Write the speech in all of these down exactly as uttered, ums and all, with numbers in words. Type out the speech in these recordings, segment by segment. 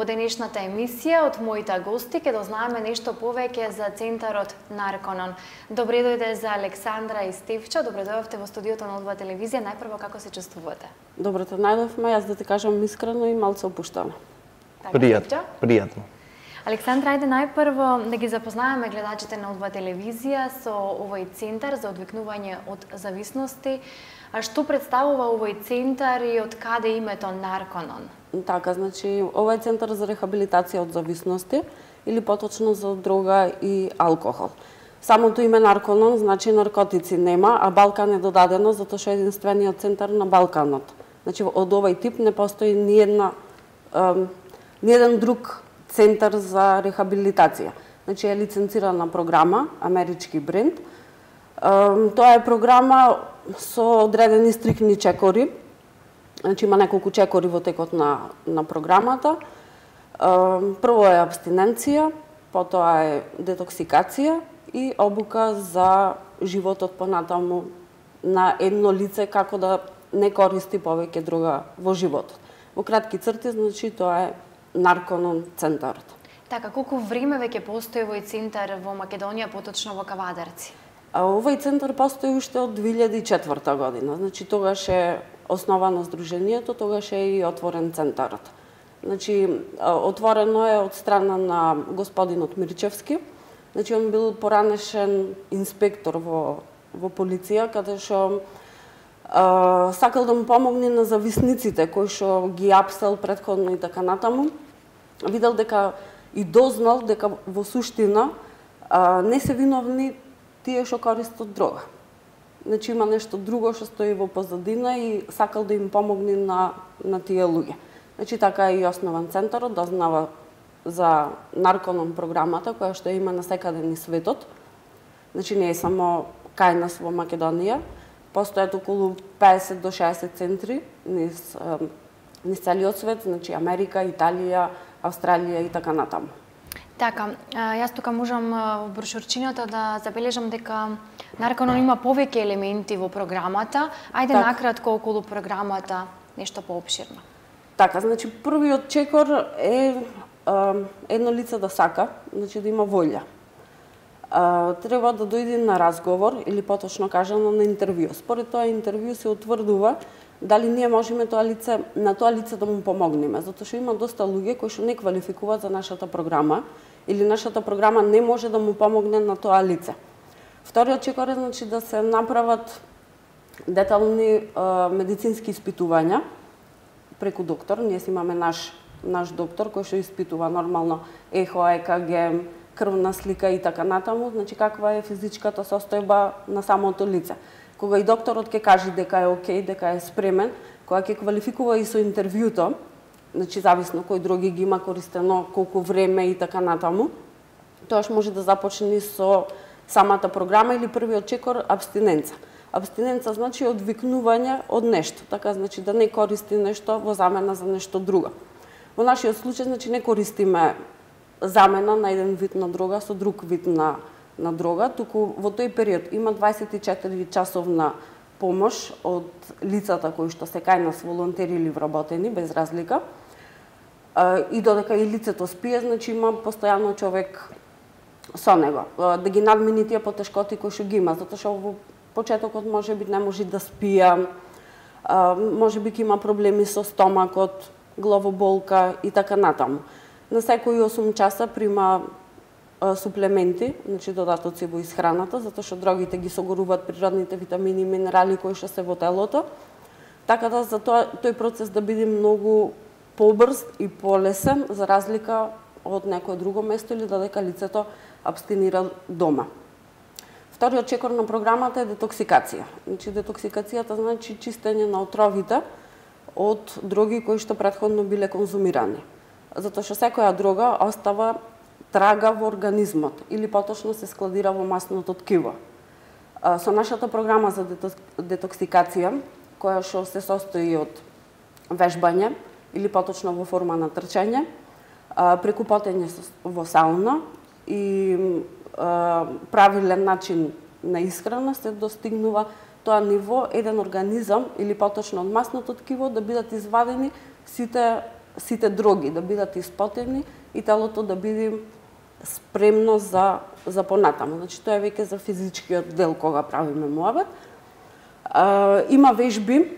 денешната емисија од моите гости ќе дознаеме нешто повеќе за центарот Нарконон. Добре дојде за Александра и Стефчо, добре дојдовте во студиото на Одва телевизија. Најпрво, како се чувствувате? Добре те најдовме, јас да ти кажам искрено и малце опуштено. Пријатно, пријатно. Александра, ајде најпрво да ги запознаеме гледачите на Одва телевизија со овој центар за одвикнување од зависности. А што представува овој центар и од каде името Нарконон? Така, значи, овој центар за рехабилитација од зависности или поточно за дрога и алкохол. Самото име Нарконон значи наркотици нема, а Балкан е додадено затоа што е единствениот центар на Балканот. Значи, од овој тип не постои ни една ни еден друг центар за рехабилитација. Значи, е лиценцирана програма, амерички бренд. Тоа е програма со одредени стрикни чекори. Значи, има неколку чекори во текот на, на програмата. Прво е абстиненција, потоа е детоксикација и обука за животот понатаму на едно лице како да не користи повеќе дрога во животот. Во кратки црти, значи, тоа е Нарконон центарот. Така, колку време веќе постои овој центар во Македонија, поточно во Кавадарци? А овој центар постои уште од две илјади и четврта година. Значи, тогаш е основано здруженијето, тогаш е и отворен центарот. Значи, отворено е од страна на господинот Мирчевски. Значи, он бил поранешен инспектор во, во полиција, каде што а, сакал да му помогне на зависниците, кои што ги апсел предходно и така натаму. Видел дека и дознал дека во суштина а, не се виновни тие што користат дрога. Значи, има нешто друго што стои во позадина и сакал да им помогне на, на тие луѓе. Значи, така е и основан центарот, дознава за Нарконон програмата, која што има насекаде низ светот. Значи, не е само кај нас во Македонија. Постојат околу педесет до шеесет центри низ, низ целиот свет, значи Америка, Италија, Австралија и така натаму. Така, јас тука можам во брошурчината да забележам дека Нарконон има повеќе елементи во програмата. Ајде так. накратко околу програмата, нешто поопширно. Така, значи првиот чекор е, е едно лице да сака, значи да има волја. А, треба да дојде на разговор или поточно кажано на интервју. Според тоа интервју се утврдува дали ние можеме тоа лице, на тоа лице да му помогнеме, затоа што има доста луѓе кои што не квалификуваат за нашата програма или нашата програма не може да му помогне на тоа лице. Вториот чекор е, значи, да се направат детални а, медицински испитувања преку доктор. Ние си имаме наш наш доктор кој што испитува нормално ехо, е ка ге, крвна слика и така натаму, значи каква е физичката состојба на самото лице. Кога и докторот ќе каже дека е окей, дека е спремен, кога ќе квалификува и со интервјуто, значи зависно кој други ги има користено, колку време и така натаму, тоаш може да започне со самата програма или првиот чекор абстиненца. Абстиненца значи одвикнување од нешто, така значи да не користи нешто во замена за нешто друго. Во нашиот случај значи не користиме замена на еден вид на дрога со друг вид на на дрога, туку во тој период има дваесет и четири часовна помош од лицата кои што се кај нас волонтери или вработени без разлика. И додека и лицето спие, значи има постојано човек со него да ги надмини тие потешкоти кои што ги има, затоа што во почетокот можеби не може да спија, можеби ќе има проблеми со стомакот, главоболка и така натаму. На секои осум часа прима суплементи, значи додатоци во исхраната, затоа што дрогите ги согоруваат природните витамини и минерали кои што се во телото. Така да за тоа тој процес да биде многу побрз и полесен за разлика од некое друго место или додека лицето абстинира дома. Вториот чекор на програмата е детоксикација. Значи детоксикацијата значи чистење на отровите од дроги кои што претходно биле конзумирани. Затоа што секоја дрога остава трага во организмот или поточно се складира во масното ткиво. Со нашата програма за детоксикација, која што се состои од вежбање или поточно во форма на трчање, преку потење во сауна и правилен начин на исхрана се достигнува тоа ниво еден организам или поточно од масното ткиво да бидат извадени сите сите дроги да бидат испотени и телото да биде спремно за за понатаму. Значи тоа е веќе за физичкиот дел кога правиме муабет. А, има вежби,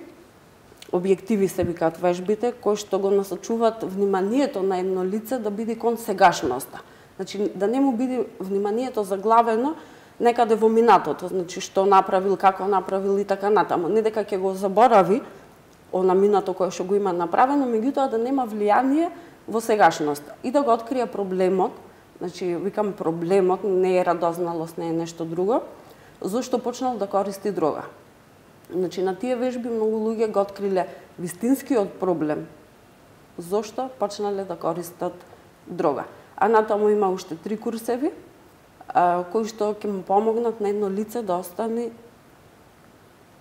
објективи се викаат вежбите, кои што го насочуваат вниманието на едно лице да биде кон сегашноста. Значи да не му биде вниманието заглавено некаде во минатото, значи што направил, како направил и така натаму. Не дека ќе го заборави она минато кое што го има направено, меѓутоа да нема влијание во сегашноста и да го открие проблемот. Значи викам проблемот не е радозналост, не е нешто друго, зашто почнал да користи дрога. Значи на тие вежби многу луѓе го откриле вистинскиот проблем. Зошто почнале да користат дрога. А натаму има уште три курсеви, а, кои што ќе му помогнат на едно лице да остане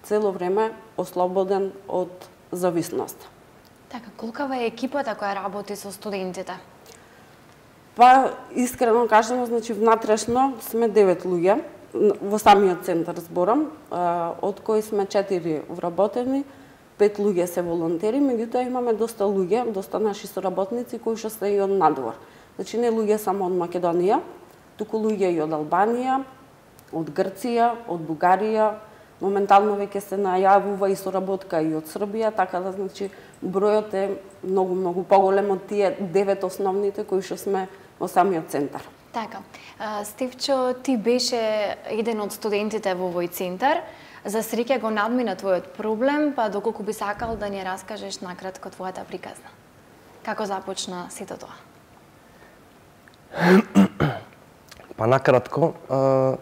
цело време ослободен од зависност. Така, колкава е екипата која работи со студентите? Па, искрено кажано, значи внатрешно сме девет луѓе, во самиот центар зборам, од кои сме четири вработени, пет луѓе се волонтери, меѓутоа имаме доста луѓе, доста наши соработници кои што се и од надвор. Значи не луѓе само од Македонија, туку луѓе и од Албанија, од Грција, од Бугарија, моментално веќе се најавува и соработка и од Србија, така да значи бројот е многу многу поголем од тие девет основните кои што сме во самиот центар. Така. Стивчо, ти беше еден од студентите во овој центар. За среќа го надмина твојот проблем, па доколку би сакал да ни раскажеш накратко твојата приказна. Како започна сето тоа? Па накратко, а,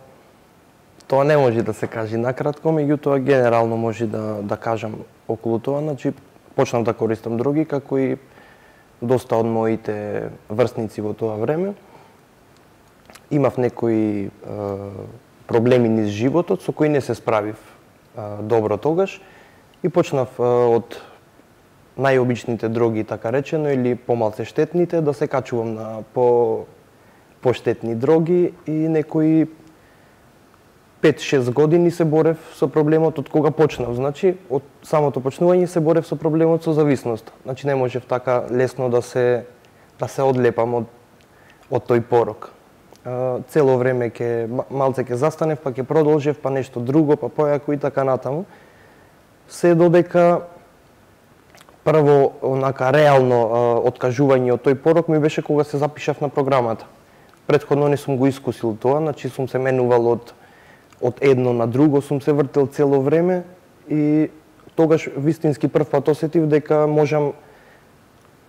тоа не може да се каже накратко, меѓутоа генерално може да да кажам околу тоа, значи почнав да користам дроги како и доста од моите врсници во тоа време. Имав некои е, проблеми низ животот со кои не се справив е, добро тогаш и почнав е, од најобичните дроги, така речено, или помалце штетните, да се качувам на по поштетни дроги и некои пет-шест години се борев со проблемот од кога почнав. Значи, од самото почнување се борев со проблемот со зависност. Значи, не можев така лесно да се да се одлепам од од тој порок. Цело време ќе малце ќе застанев, па ќе продолжев, па нешто друго, па појако и така натаму. Се додека прво онака реално откажување од тој порок ми беше кога се запишав на програмата. Претходно не сум го искусил тоа, значи сум се менувал од од едно на друго, сум се вртел цело време и тогаш вистински прв пат осетив дека можам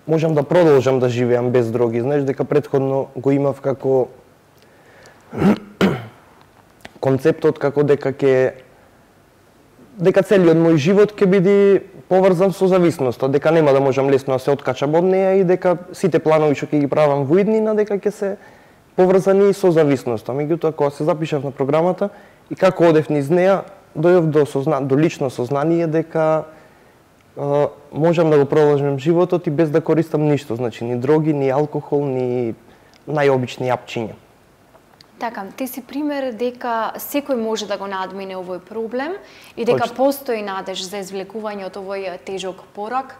можам да продолжам да живеам без дроги. Знаеш дека претходно го имав како концептот како дека ќе дека целиот мој живот ќе биде поврзан со зависноста, дека нема да можам лесно да се откачам од неа и дека сите планови што ќе ги правам во иднина дека ќе се поврзани со зависноста. Меѓутоа кога се запишав на програмата и како одев низ неа, дојдов до созна... до лично сознание дека е, можам да го продолжам животот и без да користам ништо, значи ни дроги, ни алкохол, ни најобични јапчиња. Така, ти си пример дека секој може да го надмине овој проблем и дека Точно. постои надеж за извлекување од овој тежок порок.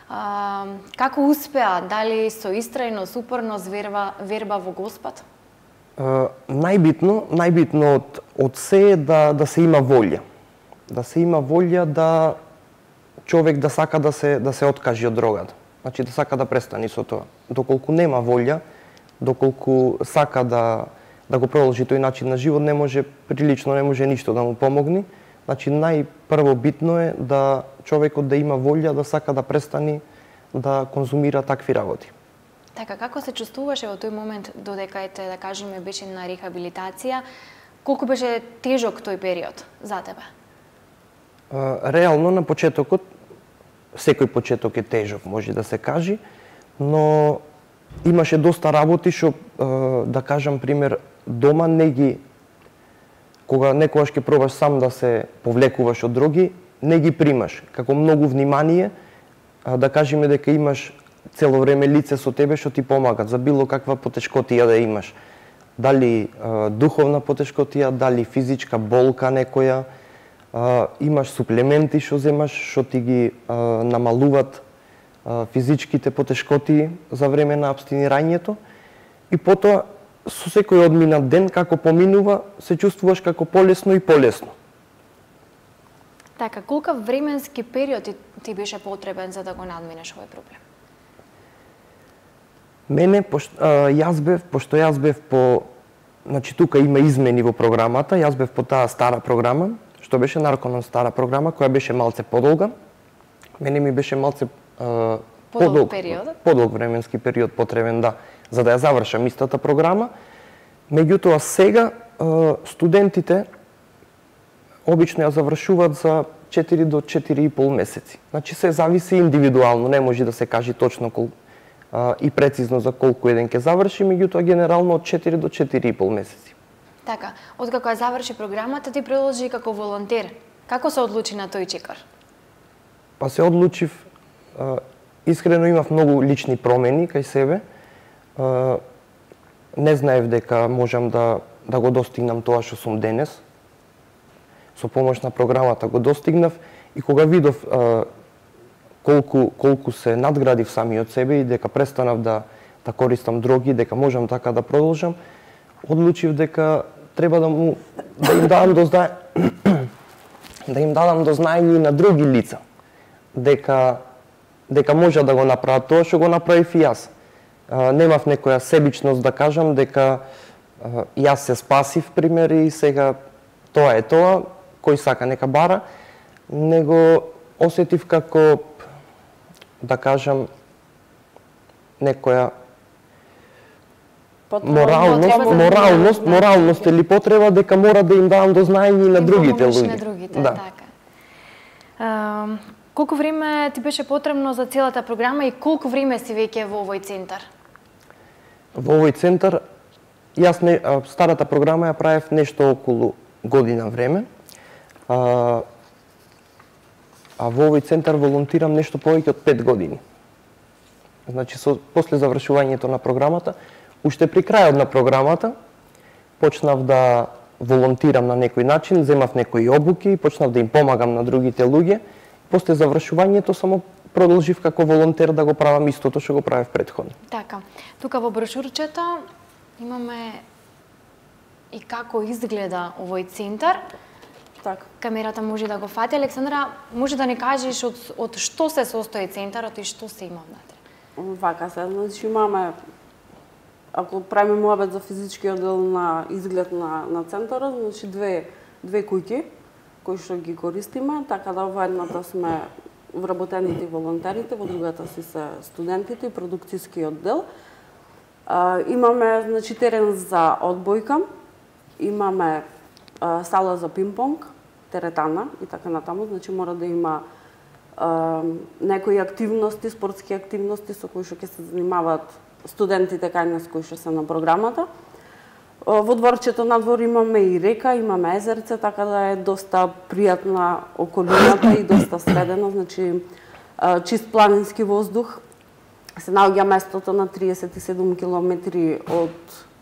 А, како успеа? Дали со истрајност, упорност, верба, верба во Господ? Uh, најбитно, најбитно од, од се е да, да се има волја. Да се има волја да човек да сака да се, да се откажи од дрогата. Значи да сака да престани со тоа. Доколку нема волја, доколку сака да, да го продолжи тој начин на живот, не може, прилично не може ништо да му помогне. Значи најпрво битно е да човекот да има волја, да сака да престани да конзумира такви работи. Така, како се чувствуваше во тој момент додека ете, да кажеме, беше на рехабилитација? Колку беше тежок тој период за тебе? Реално на почетокот, секој почеток е тежок, може да се каже, но имаше доста работи што, да кажам пример, дома не ги, кога некогаш ќе пробаш сам да се повлекуваш од дроги, не ги примаш, како многу внимание, да кажеме дека имаш цело време лице со тебе што ти помагат за било каква потешкотија да имаш. Дали е, духовна потешкотија, дали физичка болка некоја, е, имаш суплементи што земаш, што ти ги е, намалуват е, физичките потешкоти за време на абстинирањето и потоа со секој одминат ден како поминува се чувствуваш како полесно и полесно. Така, колкав временски период ти, ти беше потребен за да го надминеш овој проблем? Мене, пошто, а, јас бев, пошто јас бев по, значи тука има измени во програмата, јас бев по таа стара програма, што беше Нарконон стара програма, која беше малце подолга. Мене ми беше малце а, подолг, подолг период? Подолг временски период потребен, да, за да ја завршам истата програма. Меѓутоа сега а, студентите обично ја завршуваат за четири до четири и пол месеци. Значи се зависи индивидуално, не може да се каже точно колку а, и прецизно за колку еден ќе заврши, меѓутоа генерално од четири до четири и пол месеци. Така, откако ја заврши програмата, ти продолжи како волонтер. Како се одлучи на тој чекор? Па се одлучив, а, искрено имав многу лични промени кај себе. А, не знаев дека можам да, да го достигнам тоа што сум денес. Со помош на програмата го достигнав и кога видов а, колку, колку се надградив самиот себе и дека престанав да, да користам дроги, дека можам така да продолжам, одлучив дека треба да му да им дадам до знае да им дадам до знаење и на други лица дека дека може да го направат тоа што го направив и јас. А, немав некоја себичност да кажам дека а, јас се спасив пример и сега тоа е тоа, кој сака нека бара, него осетив како да кажам некоја моралност, моралност, моралност или потреба дека мора да им давам до знаење и на другите луѓе. На другите, да. така. А, колку време ти беше потребно за целата програма и колку време си веќе во овој центар? Во овој центар јас не, старата програма ја правев нешто околу година време. А, а во овој центар волонтирам нешто повеќе од пет години. Значи, со, после завршувањето на програмата, уште при крајот на програмата, почнав да волонтирам на некој начин, земав некои обуки, почнав да им помагам на другите луѓе. После завршувањето само продолжив како волонтер да го правам истото што го правев претходно. Така, тука во брошурчето имаме и како изгледа овој центар. Така. Камерата може да го фати. Александра, може да ни кажеш од, од што се состои центарот и што се има внатре? Вака се, значи имаме, ако правиме муабет за физичкиот дел на изглед на, на центарот, значи две, две куќи кои што ги користиме, така да во едната сме вработените волонтерите, во другата си се студентите и продукцијскиот дел. А, имаме значи терен за одбојка, имаме а, сала за пинг-понг, теретана и така натаму, значи мора да има а, некои активности, спортски активности со кои што ќе се занимаваат студентите кај нас кои што се на програмата. Во дворчето надвор имаме и река, имаме езерце, така да е доста пријатна околината и доста средено, значи чист планински воздух. Се наоѓа местото на триесет и седум километри од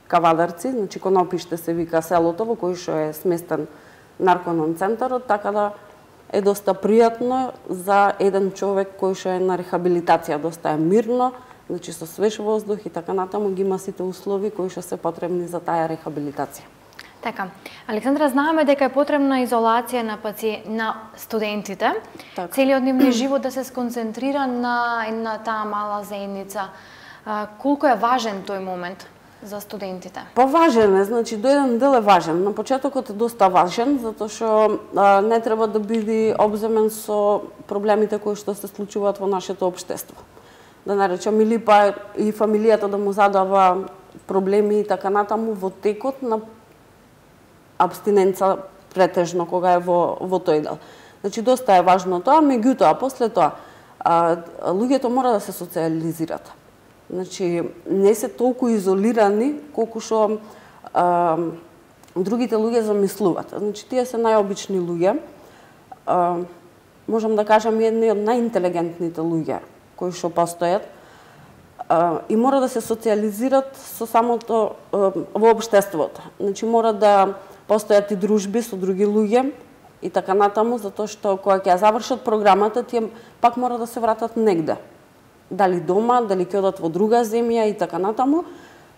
Кавадарци, значи Конопиште се вика селото во кој што е сместен Нарконон центарот, така да е доста пријатно за еден човек кој што е на рехабилитација, доста е мирно, значи со свеж воздух и така натаму ги има сите услови кои што се потребни за таа рехабилитација. Така, Александра, знаеме дека е потребна изолација на паци... на студентите. Так. Целиот нивниот живот да се сконцентрира на на таа мала заедница. А, колку е важен тој момент за студентите? Па важен е, значи до еден дел е важен. На почетокот е доста важен, затоа што а, не треба да биде обземен со проблемите кои што се случуваат во нашето општество. Да наречам, или па и фамилијата да му задава проблеми и така натаму во текот на абстиненца претежно кога е во, во тој дел. Значи, доста е важно тоа, меѓутоа, после тоа, а, луѓето мора да се социализират. Значи, не се толку изолирани колку што а, другите луѓе замислуваат. Значи, тие се најобични луѓе. А, можам да кажам едни од најинтелигентните луѓе кои што постојат а, и мора да се социализират со самото а, во општеството. Значи, мора да постојат и дружби со други луѓе и така натаму, затоа што кога ќе ја завршат програмата, тие пак мора да се вратат негде. дали дома, дали ќе одат во друга земја и така натаму,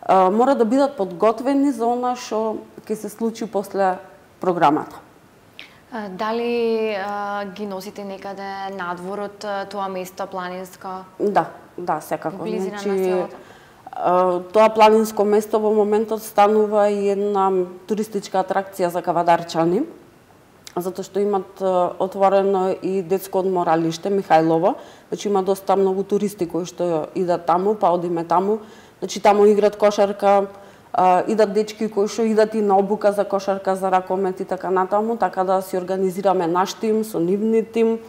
мора да бидат подготвени за она што ќе се случи после програмата. Дали а, ги носите некаде надвор од тоа место планинско? Да, да, секако. Близина значи, на селото? Тоа планинско место во моментот станува и една туристичка атракција за кавадарчани, затоа што имат отворено и детско одморалиште Михајлово, значи има доста многу туристи кои што идат таму, па одиме таму, значи таму играат кошарка, идат дечки кои што идат и на обука за кошарка, за ракомет и така натаму, така да си организираме наш тим со нивни тим.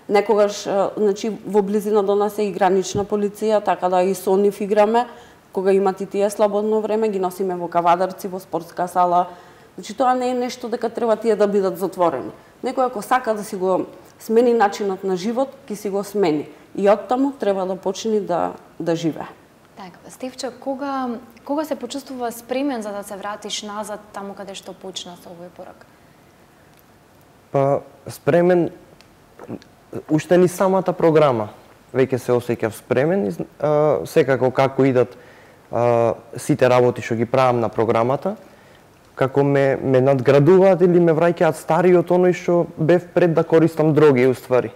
Некогаш, значи, во близина до нас е и гранична полиција, така да и со нив играме. Кога имат и тие слободно време, ги носиме во кавадарци, во спортска сала. Значи, тоа не е нешто дека треба тие да бидат затворени. Некој ако сака да си го смени начинот на живот, ќе си го смени. И оттаму треба да почне да, да живее. Така, Стефче, кога, кога се почувствува спремен за да се вратиш назад таму каде што почна со овој порак? Па, спремен, уште ни самата програма веќе се осеќав спремен, а, секако како идат а, сите работи што ги правам на програмата, како ме, ме надградуваат или ме враќаат стари од оној што бев пред да користам дроги, уствари.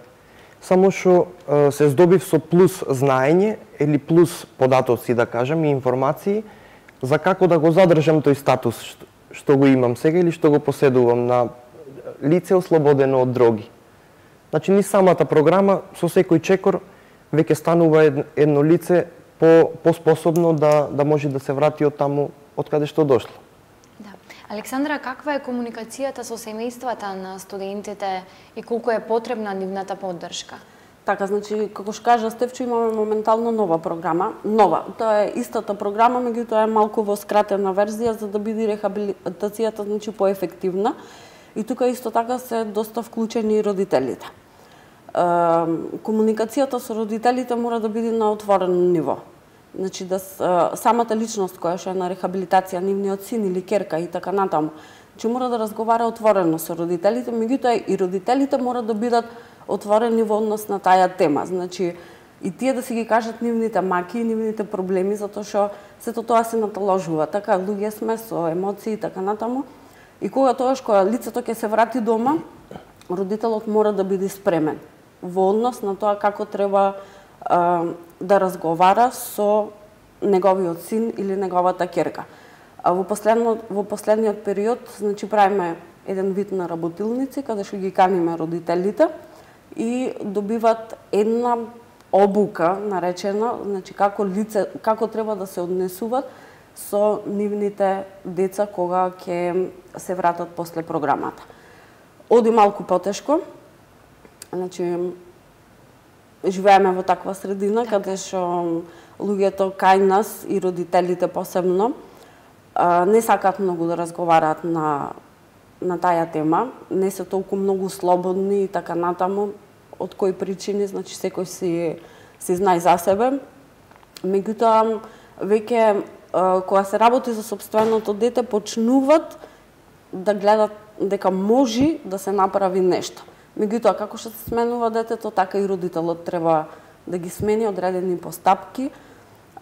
Само што а, се здобив со плюс знаење или плюс податоци, да кажам, и информации за како да го задржам тој статус што, што го имам сега или што го поседувам на лице ослободено од дроги. Значи, ни самата програма, со секој чекор, веќе станува едно лице по, поспособно да, да може да се врати од таму од каде што дошло. Да. Александра, каква е комуникацијата со семејствата на студентите и колку е потребна нивната поддршка? Така, значи, како што кажа Стефчо, имаме моментално нова програма. Нова, тоа е истата програма, меѓутоа е малку во скратена верзија за да биде рехабилитацијата, значи, поефективна. И тука исто така се доста вклучени и родителите. Комуникацијата со родителите мора да биде на отворено ниво. Значи, да самата личност која што е на рехабилитација, нивниот син или ќерка и така натаму, значи мора да разговара отворено со родителите, меѓутоа и родителите мора да бидат отворени во однос на таа тема. Значи, и тие да си ги кажат нивните маки и нивните проблеми, затоа што сето тоа се наталожува. Така, луѓе сме со емоции и така натаму. И кога тоаш кога лицето ќе се врати дома, родителот мора да биде спремен во однос на тоа како треба а, да разговара со неговиот син или неговата ќерка. А во последниот во последниот период, значи правиме еден вид на работилници каде што ги каниме родителите и добиват една обука наречена, значи како лице како треба да се однесуваат со нивните деца кога ќе се вратат после програмата. Оди малку потешко. Значи, живееме во таква средина так. Каде што луѓето кај нас и родителите посебно не сакаат многу да разговараат на на таа тема, не се толку многу слободни и така натаму, од кои причини, значи секој си си знае за себе. Меѓутоа веќе кога се работи за сопственото дете почнуваат да гледат дека може да се направи нешто. Меѓутоа, како што се сменува детето, така и родителот треба да ги смени одредени постапки,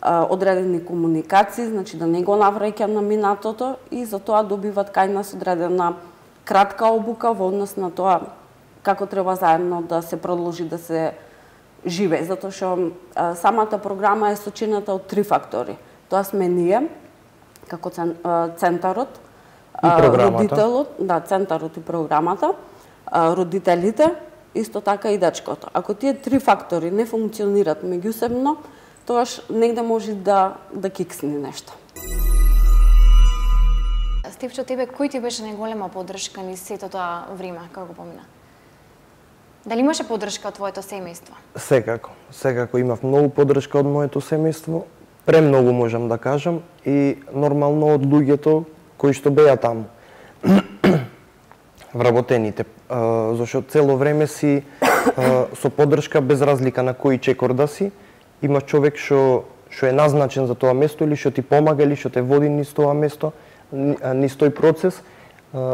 одредени комуникации, значи да не го навраќа на минатото и затоа добиват кај нас одредена кратка обука во однос на тоа како треба заедно да се продолжи да се живее, затоа што самата програма е сочинета од три фактори. Тоа сме ние, како центарот, родителот, да, центарот и програмата, родителите, исто така и дечкото. Ако тие три фактори не функционираат меѓусебно, тоаш негде може да да киксне нешто. Стефчо, тебе кој ти беше најголема поддршка низ сето тоа време како помина? Дали имаше поддршка од твоето семејство? Секако, секако имав многу поддршка од моето семејство, премногу можам да кажам и нормално од луѓето кои што беа таму. Вработените, зашто цело време си со поддршка без разлика на кој чекор да си, има човек што што е назначен за тоа место или што ти помага или што те води низ тоа место, низ тој процес,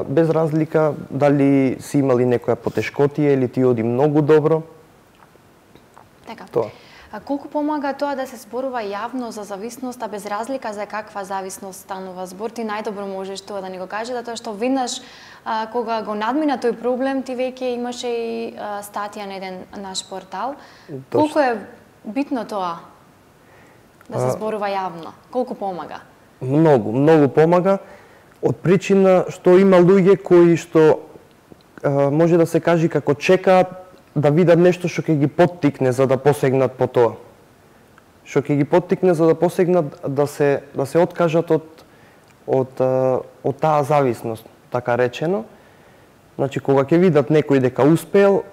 без разлика дали си имали некоја потешкотија или ти оди многу добро. Така. Тоа. А колку помага тоа да се зборува јавно за зависност, а без разлика за каква зависност станува збор? Ти најдобро можеш тоа да ни го кажеш, затоа што веднаш а, кога го надмина тој проблем, ти веќе имаше и а, статија на еден наш портал. Точно. Колку е битно тоа да се зборува јавно? Колку помага? Многу, многу помага, од причина што има луѓе кои што а, може да се каже како чекаат да видат нешто што ќе ги поттикне за да посегнат по тоа. Што ќе ги поттикне за да посегнат да се да се откажат од од од таа зависност, така речено. Значи кога ќе видат некој дека успеел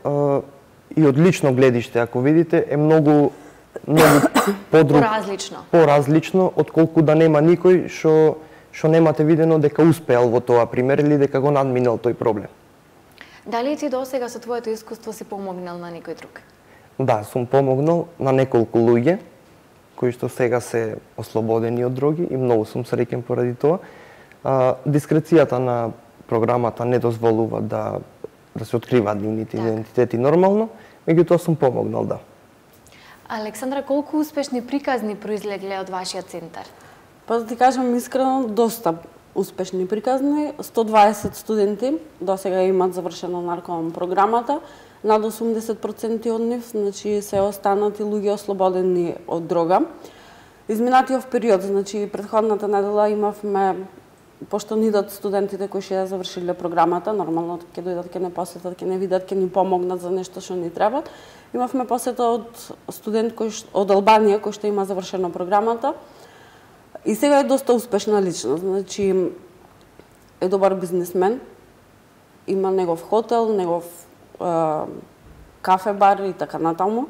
и од лично гледиште, ако видите, е многу многу подруг, поразлично. Поразлично отколку да нема никој што што немате видено дека успеал во тоа пример или дека го надминал тој проблем. Дали ти досега со твоето искуство си помогнал на некој друг? Да, сум помогнал на неколку луѓе кои што сега се ослободени од дроги и многу сум среќен поради тоа. А, дискрецијата на програмата не дозволува да да се откриваат нивните так. идентитети нормално, меѓутоа сум помогнал, да. Александра, колку успешни приказни произлегле од вашиот центар? Па да ти кажам искрено, доста успешни приказни. сто дваесет студенти досега имаат завршено наркоман програмата. Над осумдесет проценти од нив, значи се останати луѓе ослободени од дрога. Изминатиот период, значи претходната недела имавме, пошто ни идат студентите кои ќе завршиле програмата, нормално ќе дојдат, ќе не посетат, ќе не видат, ќе ни помогнат за нешто што ни треба. Имавме посета од студент кој од Албанија кој што има завршено програмата. И сега е доста успешна личност, значи е добар бизнисмен, има негов хотел, негов е, кафе бар и така натаму.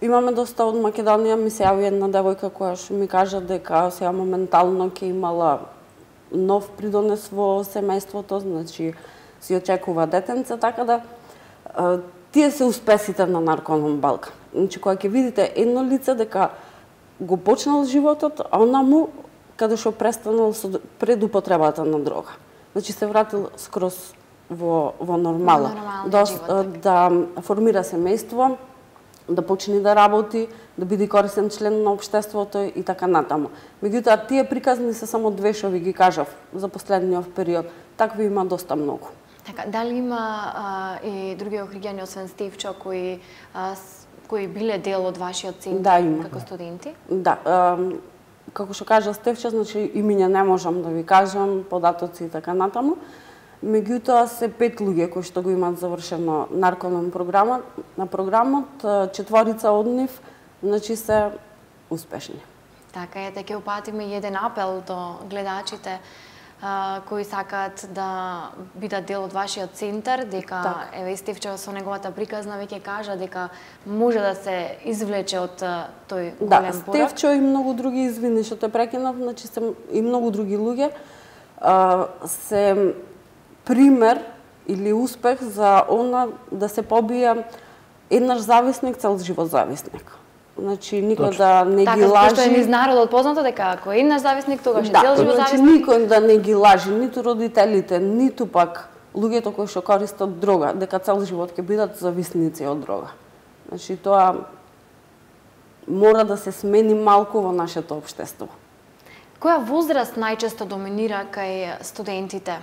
Имаме доста од Македонија, ми се јави една девојка која што ми кажа дека сега моментално ќе имала нов придонес во семејството, значи си очекува детенце, така да е, тие се успесите на Нарконом Балкан. Значи кога ќе видите едно лице дека го почнал животот, а онаму каде што престанал со предупотребата на дрога. Значи се вратил скроз во во нормала, да, да формира семејство, да почне да работи, да биде корисен член на општеството и така натаму. Меѓутоа тие приказни се само две што ви ги кажав за последниот период. Такви има доста многу. Така, дали има а, и други охриѓани освен Стивчо кои а, кои биле дел од вашиот центар да, како студенти? Да, а, како што кажа Стевче, значи имиња не можам да ви кажам, податоци и така натаму. Меѓутоа се пет луѓе кои што го имаат завршено наркоман програма, на програмот, четворица од нив, значи се успешни. Така е, ќе упатиме еден апел до гледачите а, кои сакаат да бидат дел од вашиот центар, дека так. еве Стивче со неговата приказна веќе кажа дека може да се извлече од тој да, голем порок. Да, Стевче и многу други, извини што те прекинав, значи се и многу други луѓе а, се пример или успех за она да се побија еднаш зависник, цел живот зависник. Значи никој Точно. да не така, ги лажи. Така, што е низ народот познато дека ако е еднаш зависник, тогаш е да, цел живот значи, зависник. никој да не ги лажи, ниту родителите, ниту пак луѓето кои што користат дрога, дека цел живот ќе бидат зависници од дрога. Значи тоа мора да се смени малку во нашето општество. Која возраст најчесто доминира кај студентите?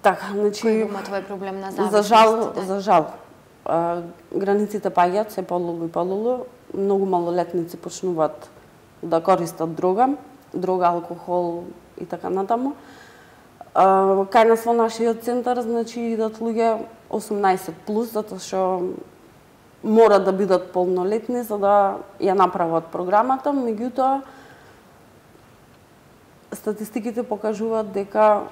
Така, значи Кој има тој проблем на зависност? За жал, за жал. А, границите паѓаат се полулу и полулу. Многу малолетници почнуваат да користат дрога, дрога, алкохол и така натаму. А, кај нас во нашиот центар, значи идат луѓе осумнаесет плюс, затоа што мора да бидат полнолетни за да ја направат програмата, меѓутоа статистиките покажуваат дека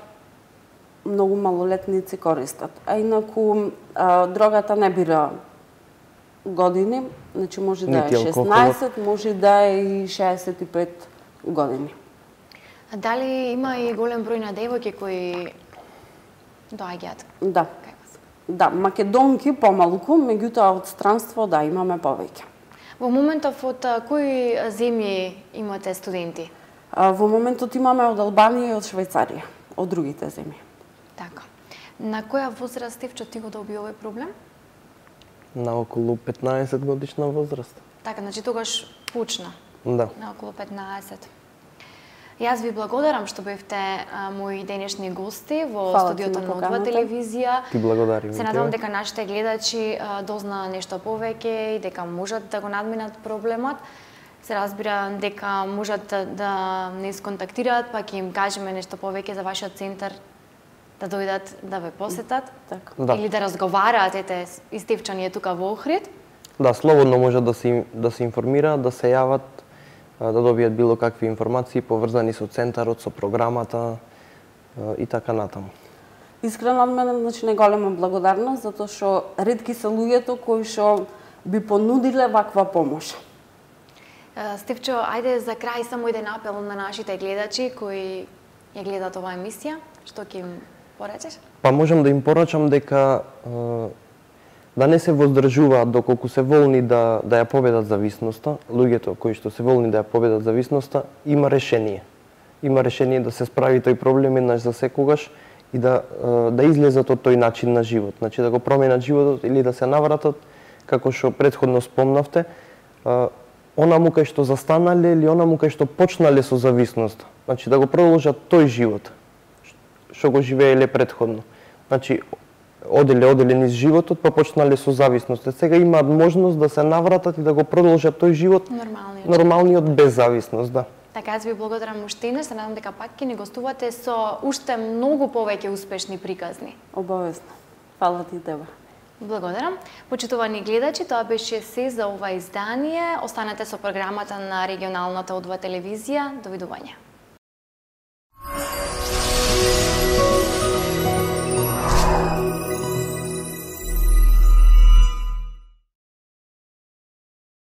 многу малолетници користат. А инаку а, дрогата не бира години, значи може да е шеснаесет, може да е и шеесет и пет години. А дали има и голем број на девојки кои доаѓаат? Да. Да, македонки помалку, меѓутоа од странство да имаме повеќе. Во моментов од кои земји имате студенти? А, во моментот имаме од Албанија и од Швајцарија, од другите земји. Така. На која возраст, Стивчо, ти го доби овој проблем? На околу петнаесет годишна возраст. Така, значи тогаш пучна. Да. На околу петнаесет. Јас ви благодарам што бевте а, мои денешни гости во Фала студиото ти на на Одва поканата. телевизија. Ти благодарим. Се надевам дека нашите гледачи а, дозна нешто повеќе и дека можат да го надминат проблемот. Се разбира дека можат да, да не сконтактираат, па ќе им кажеме нешто повеќе за вашиот центар, да дојдат да ве посетат. Така. Да. Или да разговараат, ете, и Стефчан е тука во Охрид. Да, слободно можат да се да се информираат, да се јават, а, да добијат било какви информации поврзани со центарот, со програмата а, и така натаму. Искрено од мене, значи, неголема благодарност, затоа што ретки се луѓето кои што би понудиле ваква помош. Е, Стефчо, ајде за крај само еден апел на нашите гледачи кои ја гледаат оваа емисија. Што ќе им поречеш? Па можам да им порачам дека а, да не се воздржуваат доколку се волни да да ја победат зависноста. Луѓето кои што се волни да ја победат зависноста, има решение. Има решение да се справи тој проблем еднаш за секогаш и да да излезат од тој начин на живот. Значи да го променат животот или да се навратат, како што претходно спомнавте, онаму кај што застанале или онаму кај што почнале со зависност. Значи да го продолжат тој живот што го живееле претходно. Значи оделе оделе низ животот, па почнале со зависност. Сега имаат можност да се навратат и да го продолжат тој живот Нормалниот. нормалниот без зависност, да. Така, јас ви благодарам уште еднаш, се надам дека пак ќе ни гостувате со уште многу повеќе успешни приказни. Обавезно. Фала ти тебе. Благодарам. Почитувани гледачи, тоа беше се за ова издание. Останете со програмата на регионалната Одва телевизија. Довидување.